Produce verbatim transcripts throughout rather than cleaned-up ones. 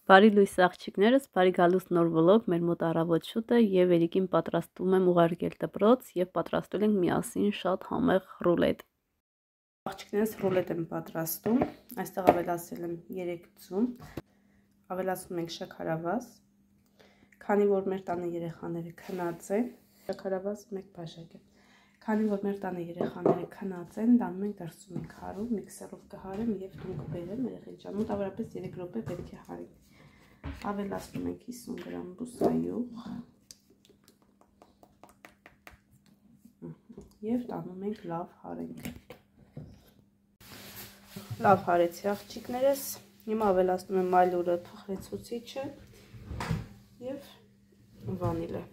Բարի լույս աղջիկներս, բարի գալուս նոր վլոգ, մեր մոտ առավոտ շուտ է եւ երիկին պատրաստում եմ ուղարկել դպրոց եւ պատրաստել ենք միասին շատ համեղ ռուլետ։ Աղջիկներս ռուլետ եմ պատրաստում, այստեղ ավելացել եմ երեք ձուն, ավելացնում ենք շաքարավազ, քանի որ մեր տանը երեխաները քնած են, շաքարավազ մեկ բաժակ է։ Քանի որ մեր տանը երեխաները քնած են, դանում ենք դրսում ենք հարում, միքսերով կհարեմ եւ տուն կբերեմ երեխեքի ջան, մոտավորապես երեք րոպե պետք է հարենք։ Ավելացնում ենք հիսուն գրամ բուսայուղ եւ տանում ենք լավ հարենք։ Լավ հարեցի աղջիկներս, հիմա ավելացնում եմ մայլուրը, փխրեցուցիչը եւ վանիլը։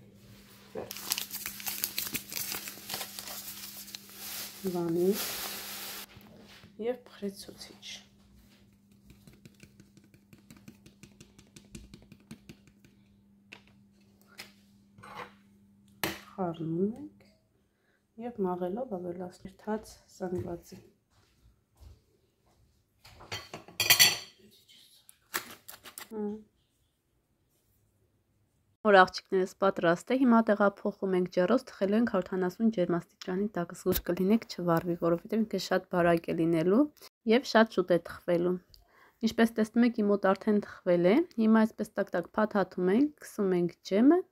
Վանիլ եւ փխրեցուցիչ։ Խառնում ենք եւ մաղելով ավելացնում թաց զանգվածի։ Որ աղջիկներս պատրաստ է, հիմա տեղափոխում ենք ջեռոց, թխելու ենք հարյուր ութանասուն ջերմաստիճանի տակ, զգույշ կլինեք չվառվի, որովհետև ինքը շատ բարակ է լինելու եւ շատ շուտ է թխվելու։ Ինչպես տեսնում եք, իմ մոտ արդեն թխվել է։ Հիմա այսպես տակ-տակ փաթաթում ենք, քսում ենք ջեմը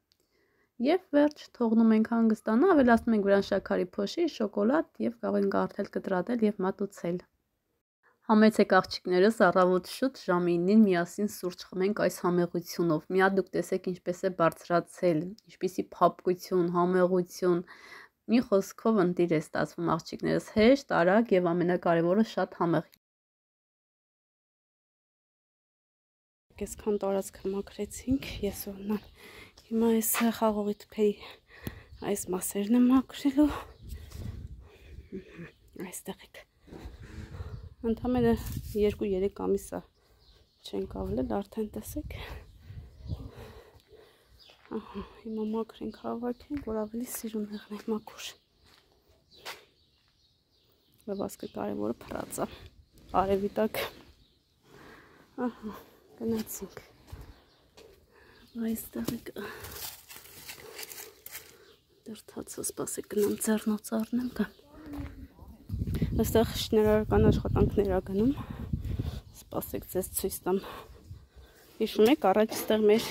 եւ վերջ թողնում ենք հանգստանա, ավելացնում ենք վրան շաքարի փոշի, շոկոլադ եւ կարող ենք արդել կտրատել եւ մատուցել։ Համեցեք աղջիկներս, առավոտ շուտ ժամը ինին միասին սուրճ խմենք այս համեղությունով։ Միա դուք տեսեք ինչպես է բարձրացել, ինչպիսի փափկություն, համեղություն, մի խոսքով ընտիր է ստացվում աղջիկներս, հեշտ, արագ եւ ամենակարևորը շատ համեղ։ Այսքան տարածքը մաքրեցինք, ես օրնան հիմա այս խաղողի թփերի այս մասերն եմ մաքրելու։ Այստեղ եք։ Ընդամենը երկու-երեք ամիս է չենք ավլել, արդեն տեսեք։ Ահա, հիմա մաքրենք հավաքենք, որ ավելի սիրուն եղնենք մաքուր։ Լվասկը կարևորը փռածա, արևի տակ։ Ահա, գնացինք։ Այստեղ եք։ Դրթացը սպասեք գնամ ձեռնոց առնեմ կամ։ Այստեղ շինարարական աշխատանքներ ա գնում, սպասեք ձեզ ցույց տամ։ Հիշում եք, առաջ այստեղ մեր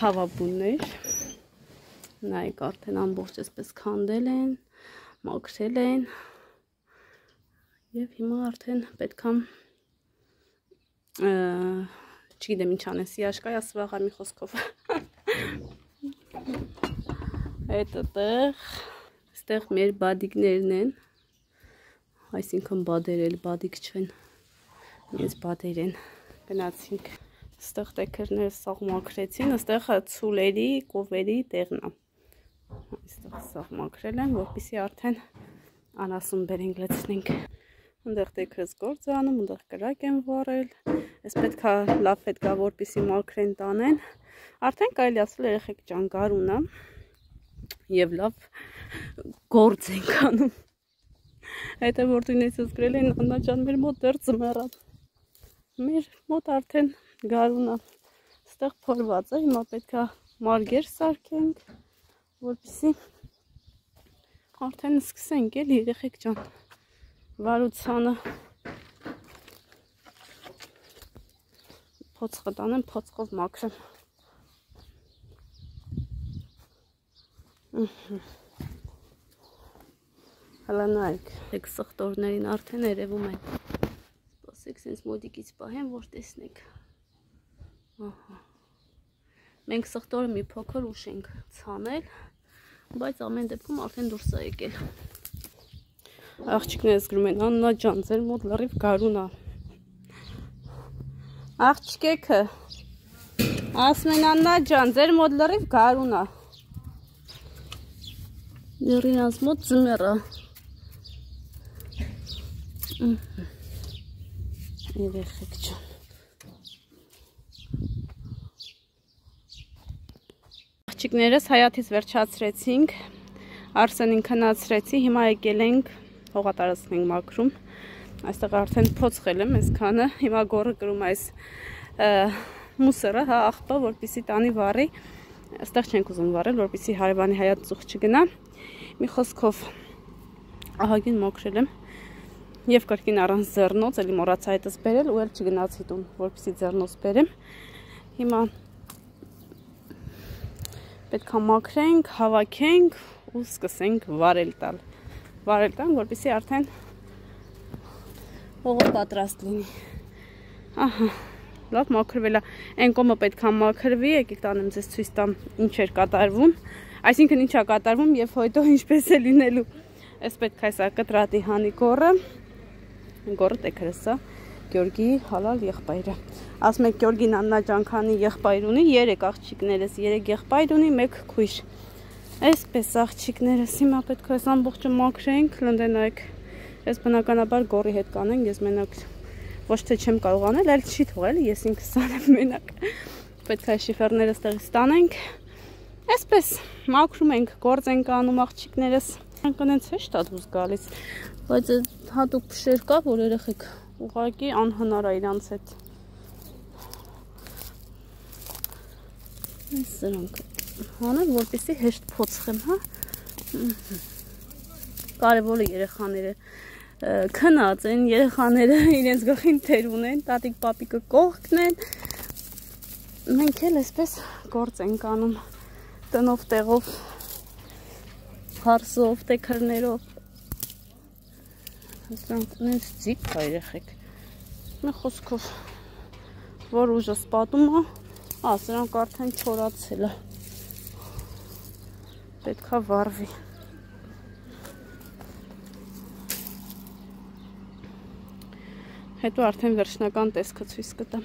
հավաբուններ, նայեք արդեն ամբողջ այսպես քանդել են, մաքրել են եւ հիմա արդեն պետքա չգիտեմ ինչ անես, իաշկայ ասվաղա մի խոսքով։ Այդտեղ, այստեղ մեր բադիկներն են, այսինքն բադերել, բադիկ չեն, ես բադեր են, գնացինք, ստեղ տեքերները սաղ մաքրեցին, ստեղ ցուլերի, կովերի տեղն է, այստեղ սաղ մաքրել են, որպիսի արդեն անասուն բերենք լցնենք, ընդեղ տեքրս գործ անում, ընդեղ կրակ են վարել, ես պետքա լավ պետքա որպիսի մաքրեն տանեն, արդեն կարելի ասել երեխեք ջան գարուն է, և լավ գործ ենք անում։ Այդ է որ դույնեցս գրել են Աննա ջան մեր մոտ դեռ ձմեռան։ Մեր մոտ արդեն գարուն է։ Ստեղ փորված է, հիմա պետքա մարգեր սարքենք, որպեսզի արդեն սկսենք էլ երեխեք ջան վարությանը։ Փոցխը տանեմ, փոցխով մաքրեմ։ Հələ նայք, եք սխտորներին արդեն երևում են, սպասեք սենց մոդիկից պահեմ, որ տեսնեք, մենք սխտորը մի փոքր ուշ ենք ցանել, բայց ամեն դեպքում արդեն դուրս է եկել, աղջիկներս գրում են, Աննա ջան, ձեր մոտ լրիվ գարուն է, աղջիկեքը, ասում են Աննա ջան, ձեր մոտ լրիվ գարուն է, դեռինած մոտ ձմեռ է, երեխեք ջան։ Աղջիկներս հայաթից վերջացրեցինք, Արսենին քնացրեցի, հիմա եկել ենք հողատարածք ենք մաքրում, այստեղ արդեն փոցխել եմ այսքանը, հիմա գորը կրում այս մուսերը, հա, աղբը, որպեսզի տանի վառի, այստեղ չենք ուզում վառել, որպեսզի հարևանի հայոց ծուխ չգնա։ Մի խոսքով ահագին մոքրել եմ եւ կրկին առանց ձեռնոց, էլի մոռացա այդպես բերել ու էլ չգնացի տուն, որպեսզի ձեռնոց բերեմ։ Հիմա պետք է մաքրենք, հավաքենք ու սկսենք վառել տալ։ Վառել տան, որպեսզի արդեն հողը պատրաստ լինի։ Ահա, լավ մաքրվել է։ Այն կողմը պետք է մաքրվի, եկեք տանեմ ձեզ ցույց տամ ինչ էր կատարվում։ Այսինքն ինչա կատարվում եւ հետո ինչպես է լինելու։ Այս պետք է սա կտրատի հանի գորը։ Գորը տեքրսա Գյորգի հալալ եղբայրը։ Ասում եք Գյորգին աննաջանքանի եղբայր ունի, երեք աղջիկներս, երեք եղբայր ունի, մեկ քույր։ Այսպես աղջիկներս հիմա պետք է այս ամբողջը մաքրենք, լնդենայք։ Ես բնականաբար գորի հետ կանենք, ես մենակ ոչ թե չեմ կարող անել, այլ չի թողել, ես ինքս անեմ մենակ։ Պետք է շիֆերները ստեղից տանենք։ Այսպես մաքրում ենք, գործ ենք անում աղջիկներս։ Անկնենց հեշտ է դուրս գալիս, բայց հատուկ փշեր կա, որ երեխեք ուղղակի անհնար է իրանց հետ։ Այս սրանք հանեմ, որպեսզի հեշտ փոցխեմ, հա։ Կարևորը երեխաները քնած են, երեխաները իրենց գլխին թեր ունեն, տատիկ պապիկը կողքն են։ Մենք էլ այսպես գործ ենք անում տնով տեղով, հարսով, տեքրներով։ Սրանք ունենց ձիգ կա երեխեք։ Մի խոսքով, որ ուժը սպատում է, ա, սրանք արդեն չորացել է։ Պետք է վառվի։ Հետո արդեն վերջնական տեսքը ցույց կտամ։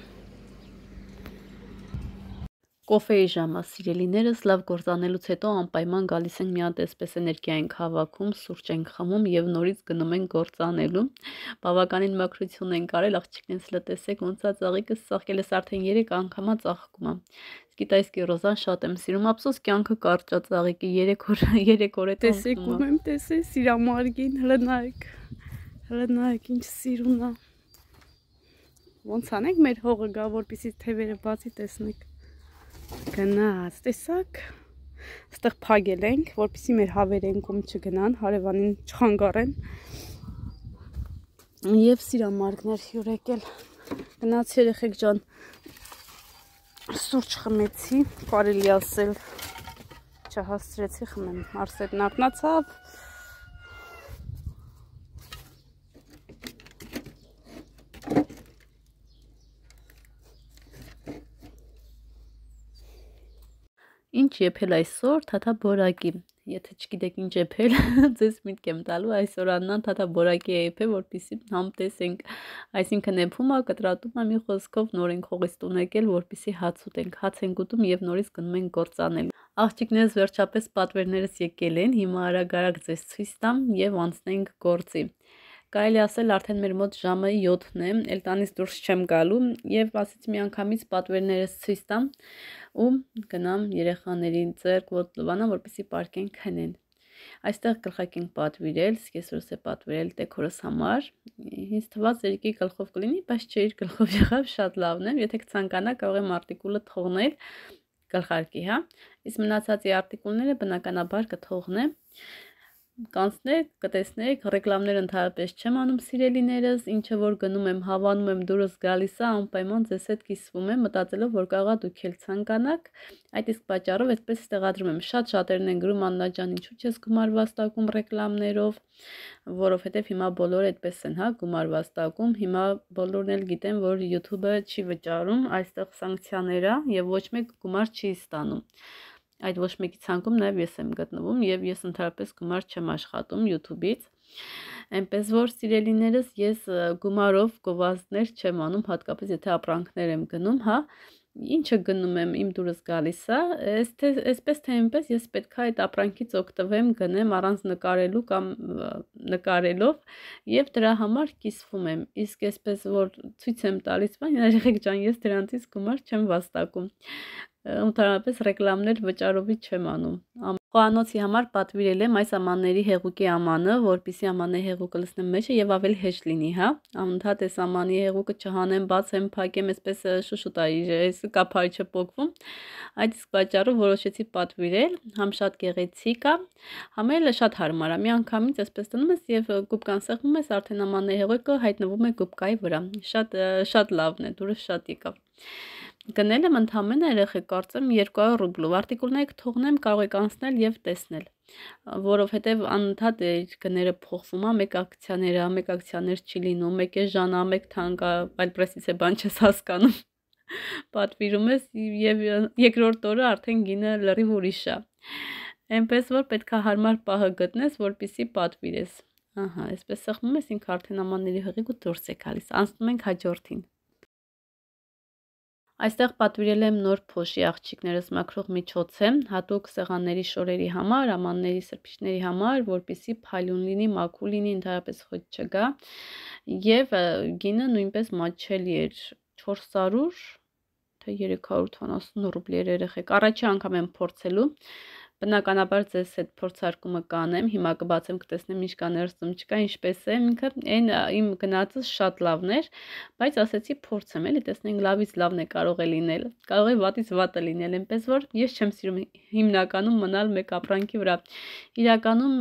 Կոֆեի ժամը, սիրելիներս, լավ գործանելուց հետո անպայման գալիս ենք մի հատ այսպես էներգիա ենք հավաքում, սուրճ ենք խմում եւ նորից գնում ենք գործանելու։ Բավականին մաքրություն ենք արել, աղջիկներս լտեսեք, ոնց է ծաղիկը ծաղկել ես արդեն երեք անգամա ծաղկում է։ Գիտայսկի ռոզան շատ եմ սիրում, ափսոս կյանքը կարճ է ծաղիկի, երեք օր, երեք օր է տեսեք ու եմ տեսե սիրամարգին, հələ նայեք։ Հələ նայեք ինչ սիրուն է։ Ոնց անենք մեր հողը գա, որպեսզի թևերը բացի տեսնեք։ Գնաց, տեսակ։ Այստեղ փագել ենք, որպեսզի մեր հավերենքում չգնան, հարևանին չխանգարեն։ Եվ սիրամարգներ հյուր եկել։ Գնաց երեխեք ջան, սուրճ խմեցի, կարելի ասել չհասցրեցի խմեմ, Մարսետն արթնացավ։ Ինչ եփել այսօր, թաթա բորակի։ Եթե չգիտեք ինչ եփել, ձեզ միտք եմ տալու, այսօր Աննան թաթա բորակի է եփել, որպեսզի համ տեսենք, այսինքն եփում է, կտրատում է, մի խոսքով նոր ենք հողից տուն եկել, որպեսզի հաց ուտենք, հաց ենք ուտում եւ նորից գնում ենք գործանել։ Աղջիկներս վերջապես պատվերներս եկել են, հիմա արագ-արագ ձեզ ցույց տամ եւ անցնենք գործի։ Կարելի ասել արդեն մեր մոտ ժամը յոթն է, էլ տանից դուրս չեմ գալու եւ ասեցի միանգամից պատվերներս ցույց տամ ու գնամ երեխաներին ձեռք ոտ լվանա, որպեսզի պարկեն քնեն։ Այստեղ գլխակ ենք պատվիրել, սկեսուրս է պատվիրել տեքորս համար։ Ինձ թվաց երիկի գլխով կլինի, բայց չէ, իր գլխով եղավ, շատ լավն է։ Եթե կցանկանա, կարող եմ արտիկուլը թողնել գլխարկի, հա։ Իսկ մնացածի արտիկուլները բնականաբար կթողնեմ։ Կանցնեք, կտեսնեք, ռեկլամներ ընդհանրապես չեմ անում սիրելիներս, ինչը որ գնում եմ, հավանում եմ, դուրս գալիս է, անպայման ձեզ հետ կիսվում եմ, մտածելով, որ կարողա դուք էլ ցանկանաք, այդ իսկ պատճառով այդպես ստեղադրում եմ։ Շատ շատերն են գրում Աննա ջան, ինչու՞ չես գումար վաստակում ռեկլամներով, որովհետև հիմա բոլորը այդպես են, հա, գումար վաստակում, հիմա բոլորն էլ գիտեն, որ YouTube-ը չի վճարում, այստեղ սանկցիաներ է եւ ոչ մեկ գումար չի ստանում։ Այդ ոչ մեկի ցանկում նաև ես եմ գտնվում եւ ես ընդհանրապես գումար չեմ աշխատում YouTube-ից։ Այնպես որ սիրելիներս ես գումարով գովազդներ չեմ անում, հատկապես եթե ապրանքներ եմ գնում, հա, ինչը գնում եմ իմ դուրս գալիս է, այսպես թե այնպես ես պետք է այդ ապրանքից օգտվեմ, գնեմ առանց նկարելու կամ նկարելով եւ դրա համար կիսվում եմ։ Իսկ այսպես որ ցույց եմ տալիս, բան, երեխեք ջան, ես դրանից գումար չեմ վաստակում։ Ընդհանրապես ռեկլամներ վճարովի չեմ անում։ Խոհանոցի համար պատվիրել եմ այս ամանների հեղուկի ամանը, որպեսզի ամանների հեղուկը լցնեմ մեջը եւ ավելի հեշտ լինի, հա։ Անընդհատ այս ամանի հեղուկը չհանեմ, բացեմ, փակեմ, այսպես շուշուտ է, այս կափարի չփոկվում։ Այդ իսկ պատճառով որոշեցի պատվիրել, համ շատ գեղեցիկ է, համ էլ շատ հարմար է։ Մի անգամից այսպես տնում ես եւ գուբկան սեղմում ես, արդեն ամանների հեղուկը հայտնվում է գուբկայի վրա։ Շատ շատ լավն է, դուրս շատ եկավ։ Գնել եմ ընդամենը երեխեք կարծեմ երկու հարյուր ռուբլով, արտիկուլները կթողնեմ, կարող եք անցնել եւ տեսնել, որովհետեւ անընդհատ գները փոխվում է, մեկ ակցիաները, մեկ ակցիաներ չի լինում, մեկ է ժանա, մեկ թանկա, այլ պրեսից է բան չես հասկանում, պատվիրում ես եւ երկրորդ օրը արդեն գինը լրիվ ուրիշ է, այնպես որ պետք է հարմար պահը գտնես, որպեսզի պատվիրես, ահա, այսպես սեղմում ես, ինքը արդեն ամանների հղիգու դուրս է գալիս, անցնում ենք հաջորդին։ Այստեղ պատվիրել եմ նոր փոշի աղջիկներս մաքրող միջոցը, հատուկ սեղանների շորերի համար, ամանների սրբիչների համար, որպեսզի փայլուն լինի, մաքուր լինի, ընդհանրապես խոտ չգա, եւ գինը նույնպես մատչելի էր չորս հարյուր թե երեք հարյուր ութանասուն ռուբլի էր երեխեք։ Առաջի անգամ եմ փորձելու, բնականաբար ձեզ այդ փորձարկումը կանեմ, հիմա կբացեմ, կտեսնեմ ինչ կա ներսում, չկա, ինչպես է, ինքը այն իմ գնացս շատ լավն էր, բայց ասեցի փորձեմ, էլի տեսնենք լավից լավն է կարող է լինել, կարող է վատից վատը լինել, այնպես որ ես չեմ սիրում հիմնականում մնալ մեկ ապրանքի վրա, իրականում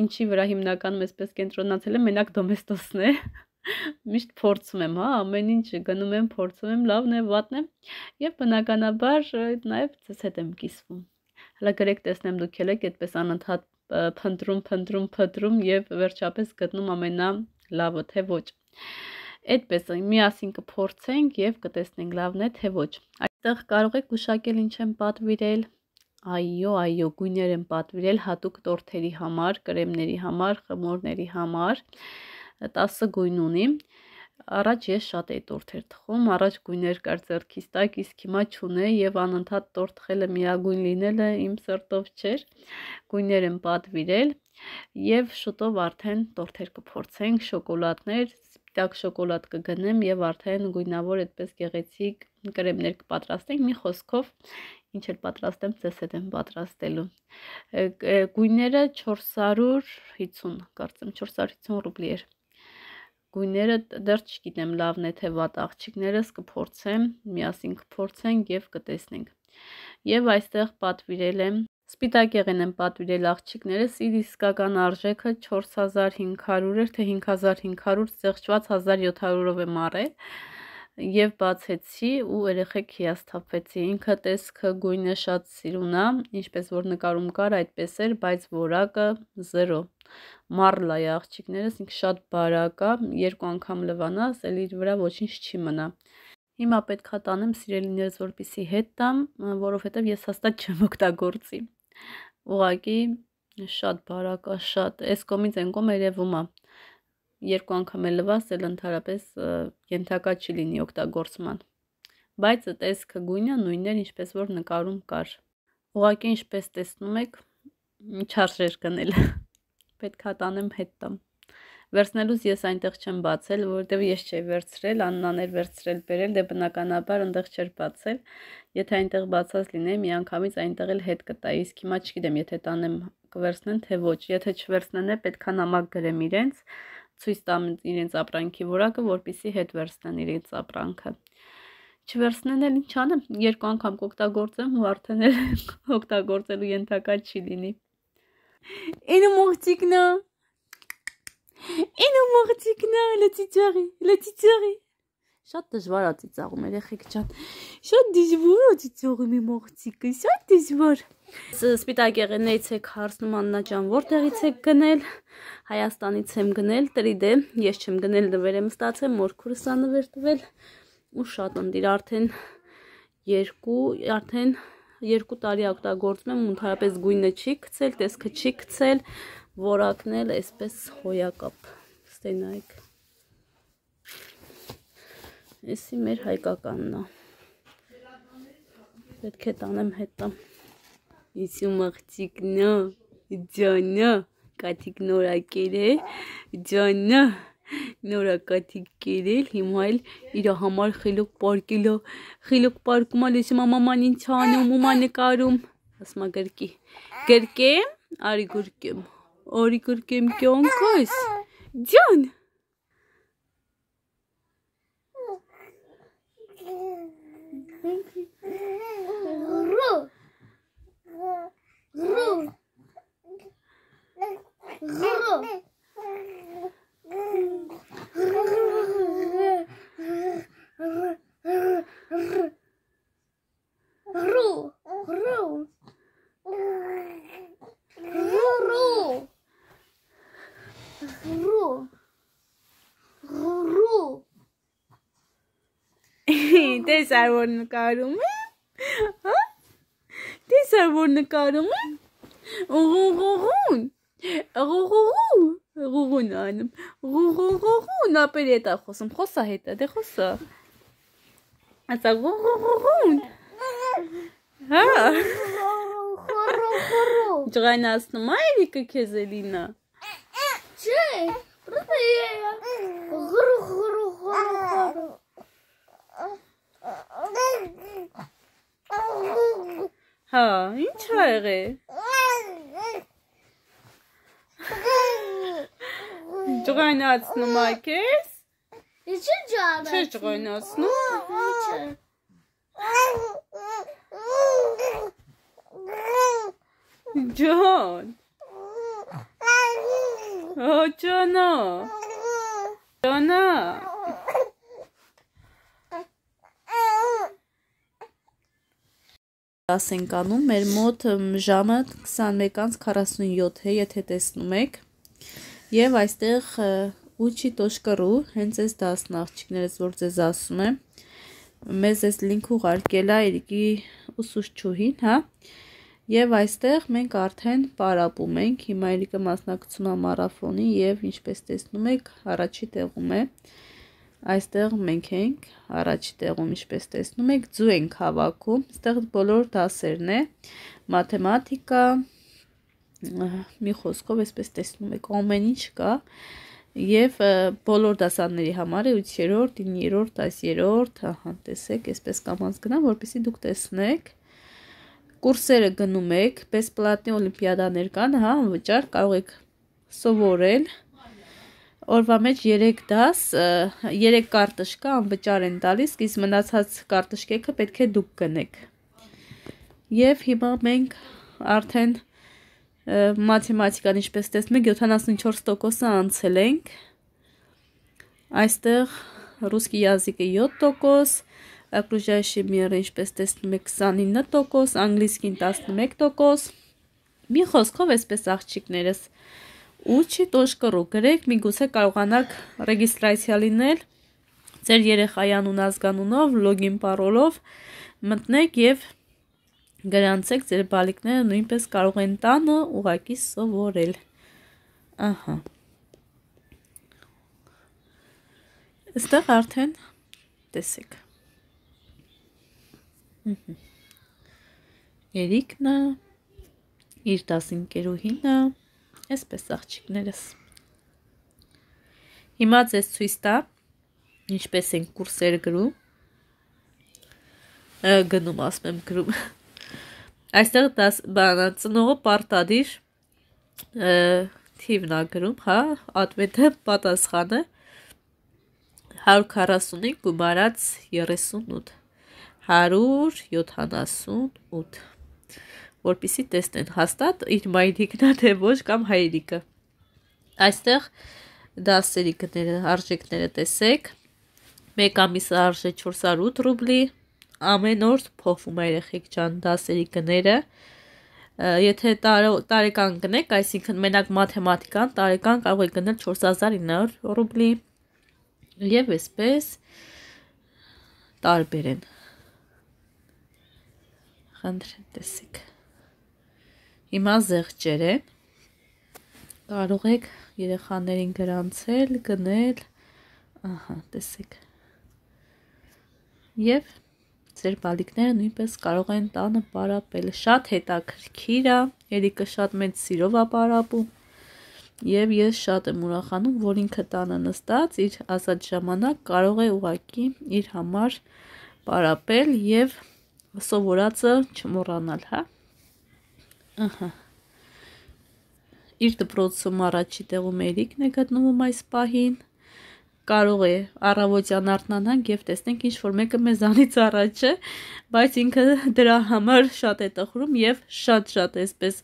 ինչի վրա հիմնականում այսպես կենտրոնացել եմ, մենակ դոմեստոսն է, միշտ փորձում եմ, հա, ամեն ինչ գնում եմ, փորձում եմ, լավն է, վատն է, եւ բնականաբար նաեւ ձեզ հետ եմ կիսվում։ Հələ գրեք տեսնեմ դուք եք այդպես անընդհատ փնտրում, փնտրում, փնտրում եւ վերջապես գտնում ամենալավը, թե ոչ։ Այդպես միասին կփորձենք եւ կտեսնենք լավն է, թե ոչ։ Այստեղ կարող եք գուշակել ինչ եմ պատվիրել։ Այո, այո, գույներ եմ պատվիրել հատուկ տորթերի համար, կրեմների համար, խմորների համար։ տասը գույն ունի։ Առաջ ես շատ էի տորթեր թխում, առաջ գույներ կար ձեռքիս տակ, իսկ հիմա չունե եւ անընդհատ տորթ խելը միագույն լինելը իմ սրտով չէր։ Գույներ եմ պատվիրել եւ շուտով արդեն տորթեր կփորձենք, շոկոլադներ, սպիտակ շոկոլադ կգնեմ եւ արդեն գույնավոր այդպես գեղեցիկ կրեմներ կպատրաստենք։ Մի խոսքով ինչ էլ պատրաստեմ, ձեզ հետ եմ պատրաստելու։ Գույները չորս հարյուր հիսուն, կարծեմ չորս հարյուր հիսուն ռուբլի էր։ Գույները դեռ չգիտեմ լավն է թե վատ, աղջիկներս կփորձեմ, միասին կփորձենք եւ կտեսնենք։ Եվ այստեղ պատվիրել եմ սպիտակ եղեն եմ պատվիրել աղջիկներս, իր իսկական արժեքը չորս հազար հինգ հարյուր էր, թե հինգ հազար հինգ հարյուր ծեղճված հազար յոթ հարյուրով եմ առել եւ բացեցի ու երեխեք հիասթափվեցի։ Ինքը տեսքը գույնը շատ սիրուն է, ինչպես որ նկարում կար, այդպես էր, բայց որակը զերո։ Մարլա է աղջիկներս, ինքը շատ բարակ է, երկու անգամ լվանաս, էլ իր վրա ոչինչ չի մնա։ Հիմա պետք է տանեմ սիրելիներս, որպեսզի հետ տամ, որովհետև ես հաստատ չեմ օգտագործի։ Ուղղակի շատ բարակ է, շատ, այս կողմից այն կողմ երևում է։ Երկու անգամ էլ լվաս, էլ ընդհանրապես ենթակա չի լինի օգտագործման։ Բայց տեսքը գույնը նույնն էր, ինչպես որ նկարում կար։ Ուղղակի ինչպես տեսնում եք, չարժեր գնել։ Պետք է տանեմ հետ տամ։ Վերցնելուց ես այնտեղ չեմ բացել, որովհետև ես չէի վերցրել, Աննան էր վերցրել, բերել, դե բնականաբար այնտեղ չէր բացել։ Եթե այնտեղ բացած լինեի, միանգամից այնտեղ էլ հետ կտայի, իսկ հիմա չգիտեմ, եթե տանեմ կվերցնեն, թե ոչ։ Եթե չվերցնեն, պետք է նամակ գրեմ իրենց, ցույց տամ իրենց ապրանքի որակը, որպեսզի հետ վերցնեն իրենց ապրանքը։ Չվերցնեն էլ ինչ անեմ, երկու անգամ կօգտագործեմ ու արդեն էլ օգտագործելու ենթակա չի լինի։ Ինը մողջիկնա։ Ինը մողջիկնա, լեցիճարի, լեցիճարի։ Շատ դժվար է ծիծաղում երեխեք ջան։ Շատ դժվար է ծիծաղում իմ մողջիկը, շատ դժվար։ Սպիտակ եղեններից եք հարցնում Աննա ջան, որտեղից եք գնել։ Հայաստանից եմ գնել, տրիդե, ես չեմ գնել, նվեր եմ ստացել, մորքուրս ա նվեր տվել ու շատ ընդիր արդեն երկու, արդեն երկու տարի օգտագործում եմ, ընդհանրապես գույնը չի գցել, տեսքը չի գցել, որակն էլ այսպես հոյակապ։ Ստենայք։ Էսի մեր հայկականն է։ Պետք է տանեմ հետ տամ։ Իսու մաղջիկնա, ջանա, կաթիկ նորակեր է, ջանա, նորակաթիկ կերել, հիմա էլ իր համար խելոք պարկել է, խելոք պարկում է, լեսում մաման ինչ անում, ումա նկարում, ասма գրկի։ Գրկեմ, արի գրկեմ։ Արի գրկեմ կյանքս։ Ջան։ Ru. Ru. Դες ar որ նկարում եմ, հա? Դες ar որ նկարում եմ, ղուղուղուն, ղուղուղու, ղուղուն անում, ղուղուղուղուն, ապեր հետ է խոսում, խոսա հետ է, դե խոսա, ասա ղուղուղուղուն, հա? Ջղայնացնում է Էրիկը քեզ Էլինա? Չէ, պրոստը ղրու ղրու ղրու Հա, ինչ ա եղել? Ջղայնացնում ա քեզ? Ինչի ջան։ Չէ ջղայնացնում։ Ջան։ Հա ջանա։ Ջանա։ Դաս ենք անում, մեր մոտ ժամը քսանմեկ քառասունյոթ է, եթե տեսնում եք, և այստեղ ուչի տոշկա րու, հենց այս դասն աղջիկներս, որ ձեզ ասում եմ, մեզ այս լինք ուղարկել է Էրիկի ուսուցչուհին, հա, և այստեղ մենք արդեն պարապում ենք, հիմա Էրիկը մասնակցում է մարաֆոնի և ինչպես տեսնում եք, առաջի տեղում է, այստեղ մենք ենք, առաջի տեղում ինչպես տեսնում եք, ձու ենք հավաքում, այստեղ բոլոր դասերն է, մաթեմատիկա, մի խոսքով այսպես տեսնում եք, ամեն ինչ կա, և բոլոր դասանների համար է ութերորդ, իններորդ, դասերորդ, ահա, տեսեք, այսպես կամած գնամ, որպեսզի դուք տեսնեք, կուրսերը գնում եք, բեսպլատնի օլիմպիադաներ կան, հա, անվճար կարող եք սովորել, օրվա մեջ երեք դաս, երեք կարտышկա անվճար են տալիս, իսկ մնացած կարտышկեքը պետք է դուք գնեք։ Եվ հիմա մենք արդեն մաթեմատիկան ինչպես տեսնում եք յոթանասունչորս տոկոսը անցել ենք։ Այստեղ ռուսկի языկը յոթ տոկոս, окружающий мир ինչպես տեսնում եք քսանինը տոկոս, անգլիսկին տասնմեկ տոկոս։ Մի խոսքով այսպես աղջիկներս Ուչի տոշկա րու գրեք, միգուցե կարողանաք ռեգիստրացիա լինել ձեր երեխայի անուն ազգանունով, լոգին պարոլով մտնեք և գրանցեք ձեր բալիկները նույնպես կարող են տանը ուղղակի սովորել։ Ահա։ Այստեղ արդեն տեսեք։ Էրիկն է, իր դասընկերուհին է, այսպես աղջիկներս։ Հիմա ձեզ ցույց տա, ինչպես են կուրսեր գրում, գնում ասում եմ գրում, այստեղ ծնողը պարտադիր թիվն է գրում, հա, ատվետը պատասխանը հարյուր քառասունինը գումարած երեսունութ, հարյուր յոթանասունութ, որպեսզի տեսնեն հաստատ իր մայրիկն է թե ոչ կամ հայրիկը։ Այստեղ դասերի գները, արժեքները տեսեք, մեկ ամիսը արժե չորս հարյուր ութ ռուբլի, ամեն օր փոխվում է երեխեք ջան դասերի գները, եթե տարեկան գնեք, այսինքն մենակ մաթեմատիկան տարեկան կարող է գնել չորս հազար ինը հարյուր ռուբլի և այսպես տարբեր են։ Խնդրեմ տեսեք։ Հիմա զեղչեր են, կարող եք երեխաներին գրանցել, գնել, ահա, տեսեք, և ձեր բալիկները նույնպես կարող են տանը պարապել, շատ հետաքրքիր է, Էրիկը շատ մեծ սիրով է պարապում, և ես շատ եմ ուրախանում, որ ինքը տանը նստած, իր ազատ ժամանակ կարող է ուղղակի իր համար պարապել և սովորածը չմոռանալ, հա։ Ահա։ Իր դպրոցում առաջի տեղում Էրիկն է գտնվում այս պահին։ Կարող է առավոտյան արթնանանք եւ տեսնենք ինչ որ մեկը մեզանից առաջ է, բայց ինքը դրա համար շատ է տխրում եւ շատ-շատ էսպես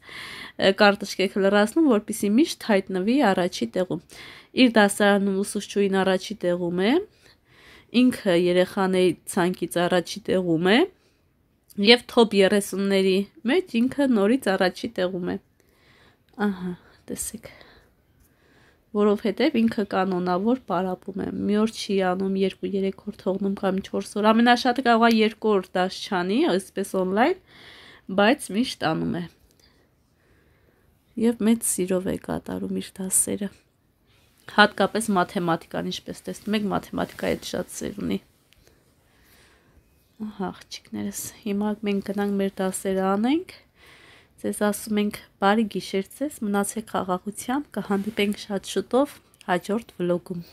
կարտышկեք լրացնում, որպեսզի միշտ հայտնվի առաջի տեղում։ Իր դասարանում ուսուցչուհին առաջի տեղում է, ինքը երեխաների ցանկից առաջի տեղում է եւ թոփ երեսունների մեջ ինքը նորից առաջի տեղում է։ Ահա, տեսեք։ Որովհետև ինքը կանոնավոր պարապում է։ Մի օր չի անում, երկու-երեք օր թողնում կամ չորս օր։ Ամենաշատը կարող է երկու օր դաս չանի, այսպես on-line, բայց միշտ անում է։ Եվ մեծ սիրով է կատարում իր դասերը։ Հատկապես մաթեմատիկան, ինչպես տեսնում եք, մաթեմատիկայի հետ շատ սեր ունի։ Ահա, աղջիկներս, հիմա մենք գնանք մեր դասերը անենք։ Ձեզ ասում ենք բարի գիշեր ձեզ, մնացեք խաղաղությամբ, կհանդիպենք շատ շուտով հաջորդ վլոգում։